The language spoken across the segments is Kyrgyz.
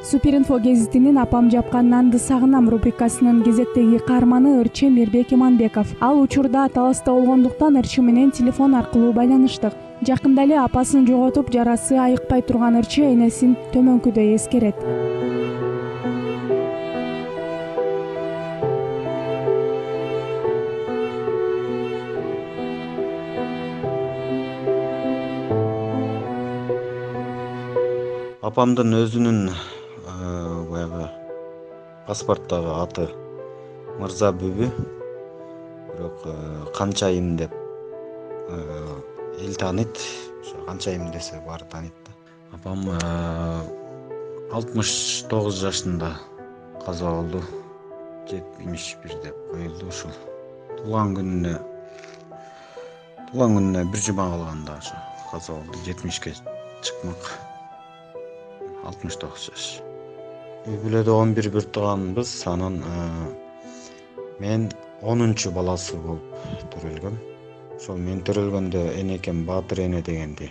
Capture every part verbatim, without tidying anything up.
Суперинфо гезитинин «Апам жапкан нанды сагынам» рубрикасынын кезектеги каарманы Ырчы Мирбек Иманбеков. Ал учурда таласта болгондуктан Ырчы менен телефон аркылуу байланыштык. Жакында эле апасын жоготуп, жарасы айыкпай турган Ырчы энесин төмөнкүдөй эскерет. Апамдын өзүнүн баягы паспорттогу аты Мырза Бүбү, бирок Канчайым деп эл тааныйт. Ошо Канчайым десе баары тааныйт да. Апам алтымыш тогуз жашында каза болду. жетимиш бир деп коюлду ушул. Туулган күнүнө Туулган күнүнө бир жума калганда ошо каза болду. жетимишке чыкмак. алтымыш тогуз жаш. Үй бүлөдө он бир бир тууганбыз. Анан мен онунчу баласы болуп төрөлгөм. Ошол мен төрөлгөндө энекем Баатыр эне дегенди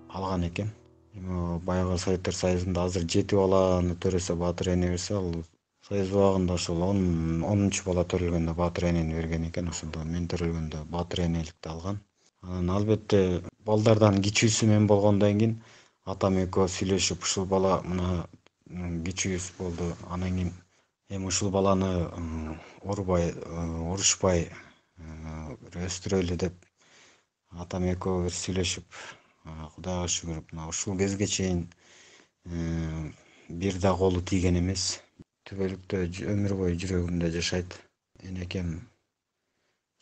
алган экен. Эми баягы Советтер Союзунда азыр жети баланы төрөсө Баатыр эне берсе, ал Союз убагында ошол онунчу бала төрөлгөндө Баатыр энени берген экен. Ошондо мен төрөлгөндө Баатыр энеликти алган. Анан албетте балдардан кичүүсү мен болгондон кийин атам экөө сүйлөшүп, ушул бала мына кичүүбүз болду. Анан кийин эми ушул баланы урбай, урушпай өстүрөлү деп атам экөө бир сүйлөшүп, Кудайга шүгүр, мына ушул кезге чейин бир да колу тийген эмес. Түбөлүктө өмүр бою жүрөгүмдө жашайт. Энекем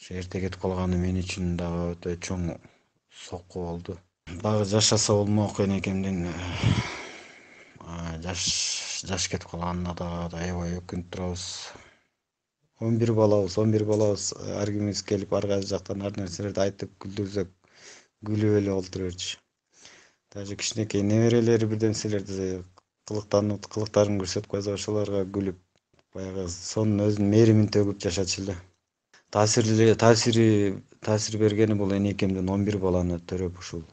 ошо эрте кетип калганы мен үчүн дагы өтө чоң сокку болду. Дагы жашаса болмок, энекемдин жаш жаш кетип калганына да аябай өкүнүп турабыз. он бир балабыз, он бир балабыз, ар кимибиз келип ар кайсы жактан ар нерселерди айтып күлдүрсөк, күлүп эле олтура берчү. Даже кичинекей неберелери бир нерселерди кылыктанып, кылыктарын көрсөтүп койсо, ошолорго күлүп, баягы сонун өзүнүн мээримин төгүп жашачу эле. Таасири таасири таасир бергени бул энекемдин он бир баланы төрөп, ушул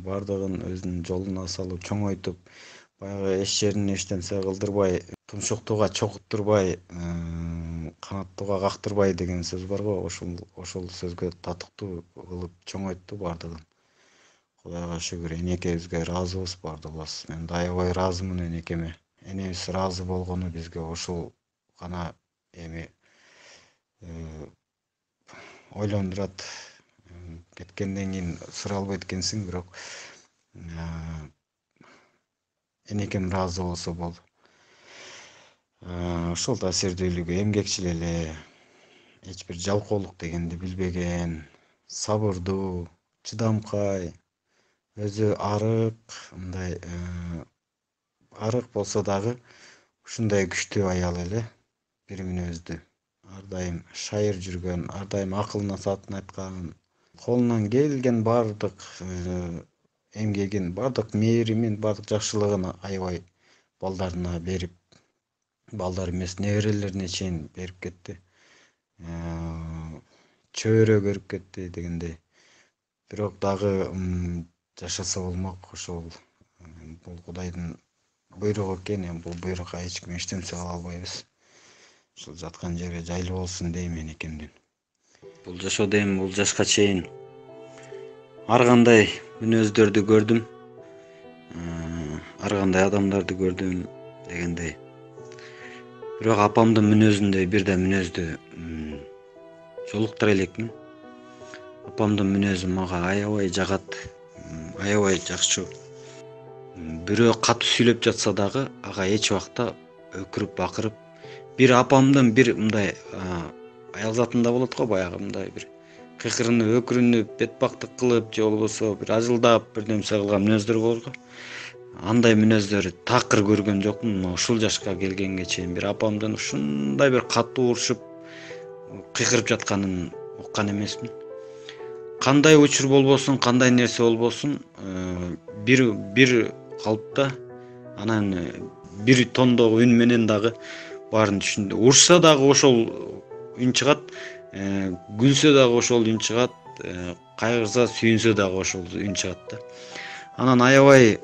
бардыгын өзүнүн жолуна салып, чоңойтуп, баягы эч жерин эчтенсе кылдырбай, тумшуктууга чокуттурбай, канаттууга кактырбай деген сөз бар го, ошол ошол сөзгө татыктуу кылып чоңойтtu бардыгын. Кудайга шүгүр, энекебизге ыраазыбыз бардыгыбыз. Мен да аябай ыраазымын энекеме. Энебиз ыраазы болгону бизге ошол гана эми ойлондурат. Кеткенден кийин сыра албайт экенсиң, бирок энекем ыраазы болсо болду. Ошол таасирдүүлүгү, эмгекчил эле, эч бир жалкоолук дегенди билбеген, сабырдуу, чыдамкай, өзү арык, мындай арык болсо дагы ушундай күчтүү аял эле, бир мүнөздүү. Ар дайым шайыр жүргөн, ар дайым акыл насаатын айткан, колунан келген бардык эмгегин, бардык мээримин, бардык жакшылыгын аябай балдарына берип, балдар эмес неберелерине чейин берип кетти. Чөбөрө көрүп кетти дегендей. Бирок дагы жашаса болмок, ошол бул Кудайдын буйругу экен, бул буйрукка эч ким эчтенсе кыла албайбыз. Ушул жаткан жери жайлуу болсун дейм энекемдин. Бул жашоодо эми бул жашка чейин ар кандай мүнөздөрдү көрдүм, ар кандай адамдарды көрдүм дегендей. Бирок апамдын мүнөзүндөй бир да мүнөздү жолуктура элекмин. Апамдын мүнөзү мага аябай жагат, аябай жакчу. Бирөө катуу сүйлөп жатса дагы ага эч убакта өкүрүп бакырып, бир апамдын бир мындай аял затында болот го, баягы мындай бир кыйкырынып, өкүрүнүп, бетбактык кылып, же болбосо бир ажылдап бир нерсе кылган мүнөздөр болор го. Андай мүнөздөрү такыр көргөн жокмун. Ушул жашка келгенге чейин бир апамдын ушундай бир катуу урушуп, кыйкырып жатканын уккан эмесмин. Кандай учур болбосун, кандай нерсе болбосун, бир бир калыпта, анан бир тондогу үн менен дагы баарын түшүндү. Урушса дагы ошол үн чыгат, күлсө дагы ошол үн чыгат, кайгырса, сүйүнсө дагы ошол үн чыгат да. Анан аябай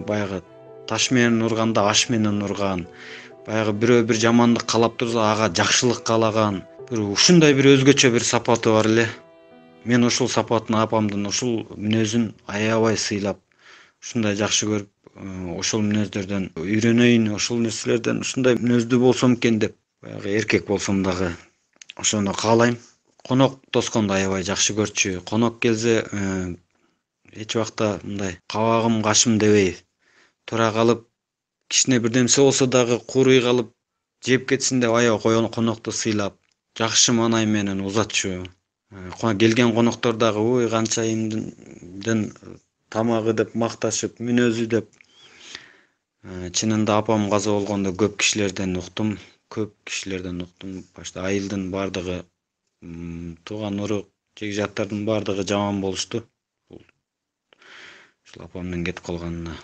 баягы таш менен урганда аш менен урган, баягы бирөө бир жамандык каалап турса ага жакшылык каалаган, бир ушундай бир өзгөчө бир сапаты бар эле. Мен ушул сапатын, апамдын ушул мүнөзүн аябай сыйлап, ушундай жакшы көрүп, ошол мүнөздөрдөн үйрөнөйүн, ошол нерселерден ушундай мүнөздүү болсом экен деп, баягы эркек болсом дагы ошону каалайм. Конок тосконду аябай жакшы көрчү. Конок келсе, эч убакта мындай кабагым кашым дебей тура калып, кичине бир нерсе болсо дагы куурый калып жеп кетсин деп аябай койгон конокту сыйлап, жакшы маанай менен узатчу. Келген коноктор дагы ой канчайымдын тамагы деп макташып, мүнөзү деп. Чынында апам каза болгондо көп кишилерден уктум, көп кишилерден уктум. Башта айылдын бардыгы, тууган урук, жекжаттардын бардыгы жаман болушту. Ушул апамдын кетип калганына.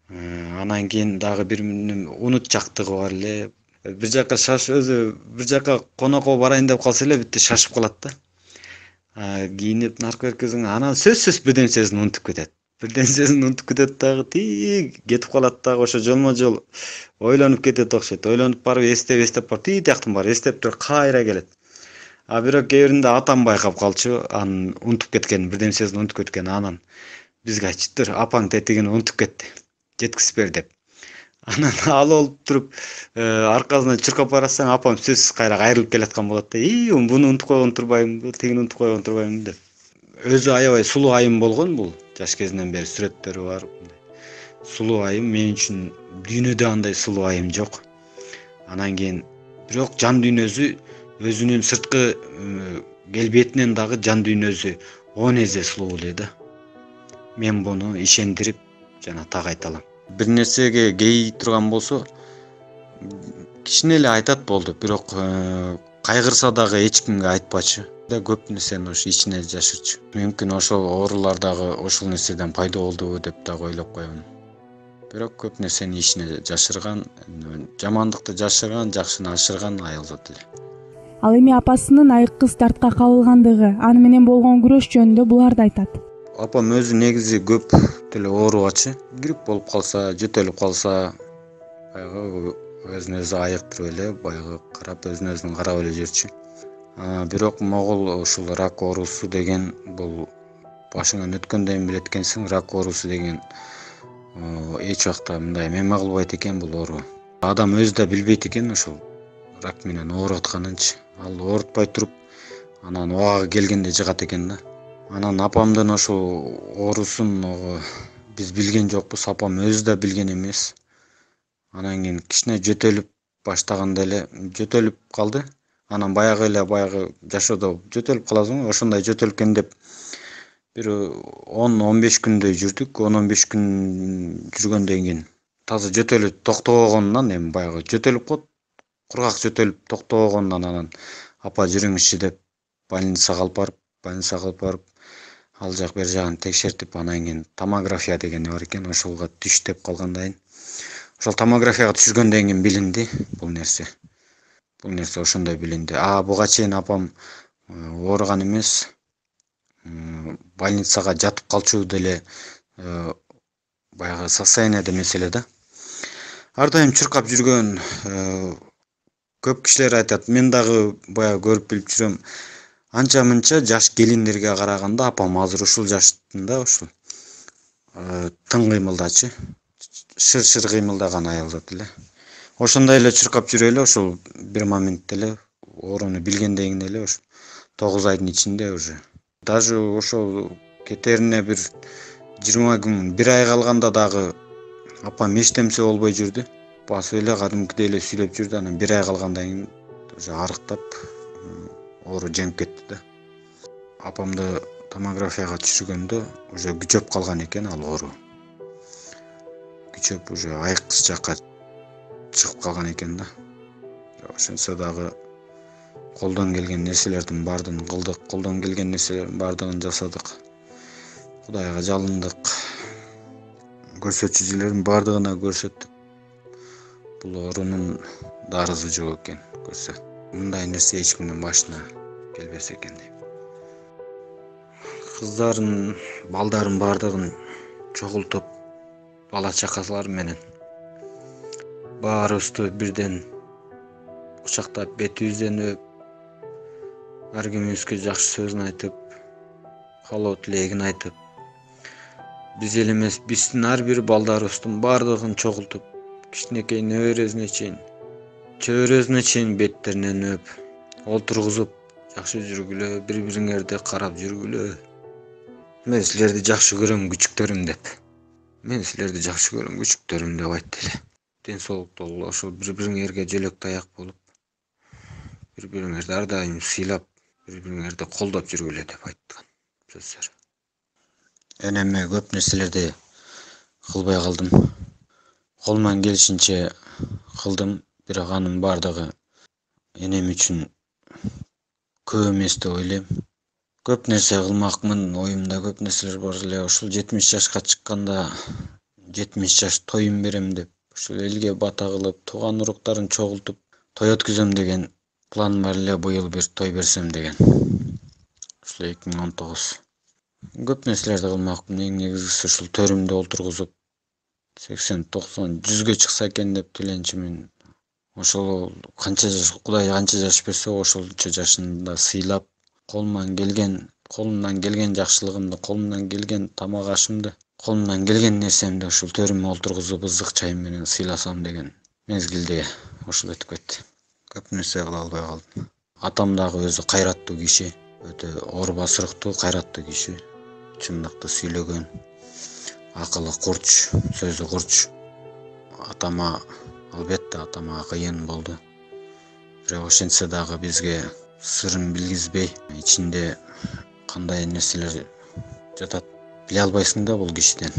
Анан кийин дагы бир унутчактыгы бар эле. Бир жака шаш өзү бир жака конокко барайын деп калса эле бүтү шашып калат да. Кийинип наркы беркизиң, анан сөзсүз бир нерсесин унутуп кетет. Бир нерсесин унутуп кетет дагы, тии кетип калат дагы, ошо жолмо-жол ойлонуп кетет окшойт. Ойлонуп барып эстеп эстеп барып тии тияктан барып эстеп туруп кайра келет. А бирок кээ биринде атам байкап калчу, анын унутуп кеткенин, бир нерсесин унутуп кеткенин. Анан бизге айтчу, тур апаң тетигин унутуп кетти, жеткизип бер деп. Анан ал болуп туруп, аркасынан чуркап барасаң, апам сөзсүз кайра кайрылып келаткан болот да. И, буну унутуп койгон турбаймынбы, тигини унутуп койгон турбаймынбы деп. Өзү аябай сулуу айым болгон бул. Жаш кезинен бери сүрөттөрү бар. Сулуу айым, мен үчүн дүйнөдө андай сулуу айым жок. Анан кийин бирок жан дүйнөсү өзүнүн сырткы келбетинен дагы жан дүйнөсү он эсе сулуу эле да. Мен буну ишендирип жана так айта алам. Бир нерсеге кей турган болсо, кичине эле айтат болду, бирок кайгырса дагы эч кимге айтпачы. Да көп нерсени ошо ичине жашырчу. Мүмкүн ошол оорулар дагы ошол нерседен пайда болдубу деп дагы ойлоп коёмун. Бирок көп нерсени ичине жашырган, жамандыкты жашырган, жакшыны ашырган аял зат эле. Ал эми апасынын айыккыс дартка кабылгандыгы, аны менен болгон күрөш жөнүндө буларды айтат. Апам өзү негизи көп деле оорубачы. Грипп болуп калса, жөтөлүп калса, баягы өзүн өзү айыктырып эле, баягы карап өзүн өзүн карап эле жүрчү. Бирок могул ушул рак оорусу деген бул башыңан өткөндөн билет экенсиң, рак оорусу деген эч убакта мындай мема кылбайт экен бул оору. Адам өзү да билбейт экен ушул рак менен ооруп атканынчы. Ал оорутпай туруп, анан убагы келгенде жыгат экен да. Анан апамдын ошол оорусун биз билген жокпуз, апам өзү да билген эмес. Анан кийин кичине жөтөлүп баштаганда эле жөтөлүп калды. Анан баягы эле баягы жашоодо жөтөлүп каласың, ошондой жөтөлгөн деп бир он он беш күндөй жүрдүк. он он беш күн жүргөндөн кийин таза жөтөлүп токтобогонунан, эми баягы жөтөлүп калып, кургак жөтөлүп токтобогонунан анан апа жүрүңүзчү деп больницага алып барып, больницага алып барып, ал жак бер жагын текшертип, анан кийин томография деген бар экен, ошолго түш деп калгандайын. Ошол томографияга түшүргөндөн кийин билинди бул нерсе. Бул нерсе ошондой билинди. А буга чейин апам ооруган эмес, больницага жатып калчу деле баягы состояниеде эмес эле да. Ар дайым чуркап жүргөн, көп кишилер айтат, мен дагы баягы көрүп билип жүрөм. Анча мынча жаш келиндерге караганда апам азыр ушул жаштында ушул тың кыймылдачы, шыр-шыр кыймылдаган аял зат эле. Ошондой эле чуркап жүрө эле, ошол бир моментте эле ооруну билгенден кийин эле ошо тогуз айдын ичинде уже. Даже ошол кетерине бир жыйырма күн, бир ай калганда дагы апам эчтемсе болбой жүрдү. Басып эле кадимкидей эле сүйлөп жүрдү. Анан бир ай калгандан кийин уже арыктап оору жеңип кетти да. Апамды томографияга түшүргөндө уже күчөп калган экен ал оору. Күчөп уже айыккыс жакка чыгып калган экен да. Ошентсе дагы колдон келген нерселердин баардыгын кылдык, колдон келген нерселердин баардыгын жасадык. Кудайга жалындык. Көрсөтүүчүлөрдүн баардыгына көрсөттүк. Бул оорунун дарысы жок экен, көрсө. Мындай нерсе эч кимдин башына келбес экен дейм. Кыздарын, балдарын баардыгын чогултуп, бала чакалар менен баарыбызды бирден кучактап бетибизден өп, ар кимибизге жакшы сөзүн айтып, каалоо тилегин айтып, биз эле эмес, биздин ар бир балдарыбыздын баардыгын чогултуп, кичинекей небересине чейин, чөбөрөсүнө чейин беттеринен өп, олтургузуп, жакшы жүргүлө, бири-бириңерди карап жүргүлө. Мен силерди жакшы көрөм, күчүктөрүм деп. Мен силерди жакшы көрөм, күчүктөрүм деп айтты эле. Ден соолуктуу болуп, ошол бири-бириңерге жөлөк таяк болуп, бири-бириңерди ар дайым сыйлап, бири-бириңерди колдоп жүргүлө деп айткан сөздөр. Энеме көп нерселерди кылбай калдым. Колуман келишинче кылдым, бирок анын бардыгы энем үчүн көп эмес деп ойлойм. Көп нерсе кылмакмын, оюмда көп нерселер бар эле. Ушул жетимиш жашка чыкканда жетимиш жаш тоюм берем деп, ушул элге бата кылып, тууган уруктарын чогултуп, той өткүзөм деген план бар эле, быйыл бир той берсем деген. Ушул эки миң он тогуз. Көп нерселерди кылмакмын, эң негизгиси ушул төрүмдө олтургузуп, сексен, токсон, жүзгө чыкса экен деп тиленчимин. Ошол канча жаш, Кудай канча жаш берсе, ошолчо жашында сыйлап, колуман келген, колумдан келген жакшылыгымды, колумдан келген тамак ашымды, колумдан келген нерсемди ушул төрүмө олтургузуп, ызык чайым менен сыйласам деген мезгилде ушул өтүп кетти. Көп нерсе кыла албай калдым. Атам дагы өзү кайраттуу киши, өтө оор басырыктуу, кайраттуу киши, чындыкты сүйлөгөн, акылы курч, сөзү курч. Атама, албетте атама кыйын болду. Бирок ошентсе дагы бизге сырын билгизбей, ичинде кандай нерселер жатат биле албайсың да бул кишиден.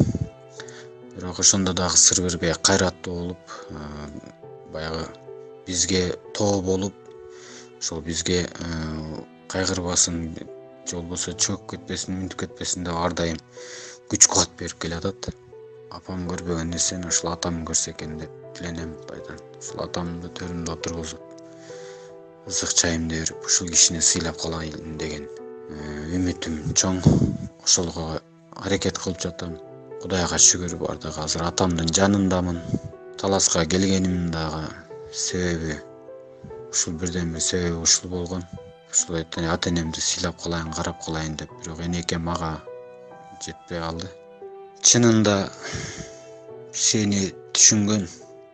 Бирок ошондо дагы сыр бербей кайраттуу болуп, баягы бизге тоо болуп, ошол бизге кайгырбасын, же болбосо чөгүп кетпесин, мүнтүп кетпесин деп ар дайым күч кубат берип келатат. Апам көрбөгөн нерсени ушул атам көрсө экен деп тиленем Кудайдан. Ушул атамды төрүмдө отургузуп, ызык чайымды берип, ушул кишини сыйлап калайын деген үмүтүм чоң. Ошолго аракет кылып жатам. Кудайга шүгүр, бардыгы азыр атамдын жанындамын. Таласка келгеним дагы себеби ушул, бирден бир себеби ушул болгон. Ушул ата-энемди сыйлап калайын, карап калайын деп, бирок энекем ага жетпей калды. Чынында сени түшүнгөн,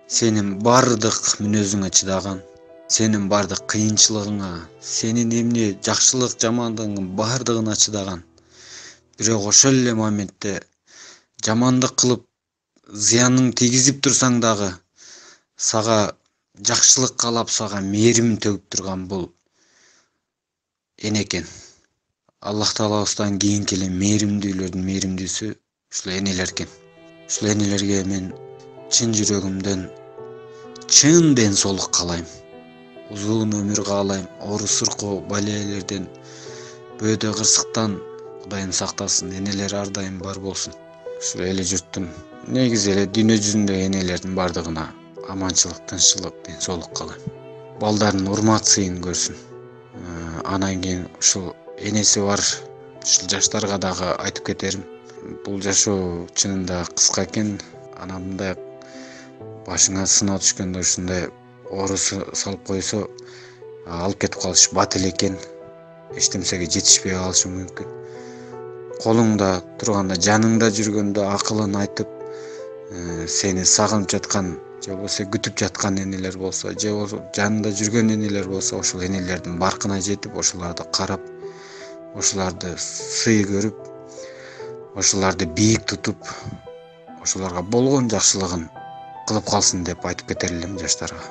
сенин бардык мүнөзүңө чыдаган, сенин бардык кыйынчылыгыңа, сенин эмне жакшылык, жамандыгыңдын бардыгына чыдаган. Бирок ошол эле моментте жамандык кылып, зыянын тийгизип турсаң дагы, сага жакшылык каалап, сага мээрим төгүп турган бул энекен. Аллах Таалабыздан кийинки эле мээримдүүлөрдүн мээримдүүсү ушул энелер экен. Ушул энелерге мен чын жүрөгүмдөн чын ден соолук каалайм. Узун өмүр каалайм. Оору суркоо, балелерден, бөөдө кырсыктан Кудайым сактасын, энелер ар дайым бар болсун. Ушул эли журттун, негизи эле дүйнө жүзүндөгү энелердин бардыгына аманчылык, тынччылык, ден соолук каалайм. Балдардын урмат сыйын көрсүн. Анан кийин ушул энеси бар ушул жаштарга дагы айтып кетерим. Бул жашоо чынында кыска экен. Анан мындай башыңа сыноо түшкөндө ушундай оору салып койсо, алып кетип калыш бат эле экен. Эчтемсеге жетишпей калышы мүмкүн. Колуңда турганда, жаныңда жүргөндө акылын айтып, сени сагынып жаткан, же болбосо күтүп жаткан энелер болсо, же болбосо жанында жүргөн энелер болсо, ошол энелердин баркына жетип, ошолорду карап, ошолорду сый көрүп, ошолорду бийик тутуп, ошолорго болгон жакшылыгын кылып калсын деп айтып кетер элем жаштарга.